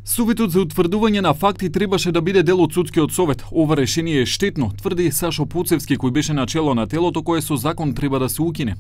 Советот за утврдување на факти требаше да биде дел од судскиот совет. Ова решение е штетно, тврди Сашо Поцевски, кој беше на чело на телото кое со закон треба да се укине.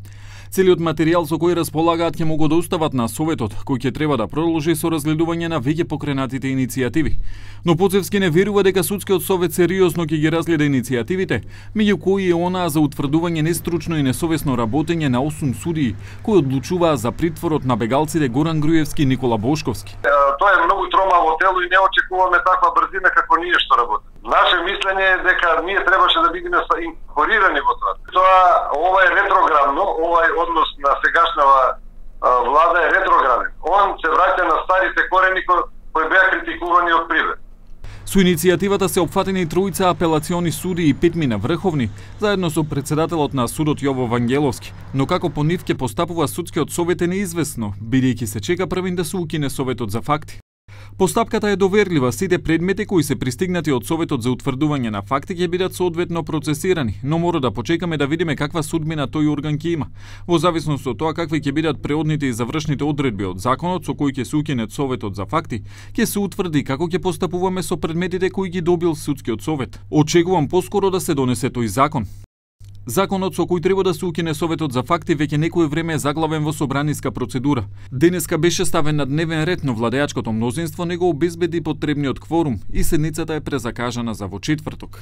Целиот материјал со кој располагаат ќе му го достават на советот, кој ќе треба да продолжи со разгледување на веќе покренатите иницијативи. Но Поцевски не верува дека судскиот совет сериозно ќе ги разгледа иницијативите, меѓу кои е онаа за утврдување нестручно и несовесно работење на 8 судии кои одлучуваа за притворот на бегалците Горан Груевски и Никола Бошковски. Тоа е многу тромаво тело и не очекуваме таква брзина како ние што работи. Наше мислење е дека ние требаше да бидеме инкорпорирани во тоа. Ова е ретроградно, овај однос на сегашнава влада е ретрограден. Он се враќа на старите корени кои беа критикувани од привред. Со иницијативата се опфатени тројца апелациони суди и 5 врховни, заедно со председателот на судот Јово Вангеловски. Но како по нив ќе постапува судскиот совет е неизвестно, бидејќи се чека првин да се укине советот за факти. Постапката е доверлива, сите предмети кои се пристигнати од Советот за утврдување на факти ќе бидат соодветно процесирани, но мора да почекаме да видиме каква судбина тој орган ќе има. Во зависност од тоа какви ќе бидат преодните и завршните одредби од законот со кои ќе се укине Советот за факти, ќе се утврди како ќе постапуваме со предметите кои ги добил судскиот совет. Очекувам поскоро да се донесе тој закон. Законот со кој треба да се укине Советот за факти веќе некое време е заглавен во собраниска процедура. Денеска беше ставен на дневен ред, но владеачкото мнозинство не го обезбеди потребниот кворум и седницата е презакажана за во четврток.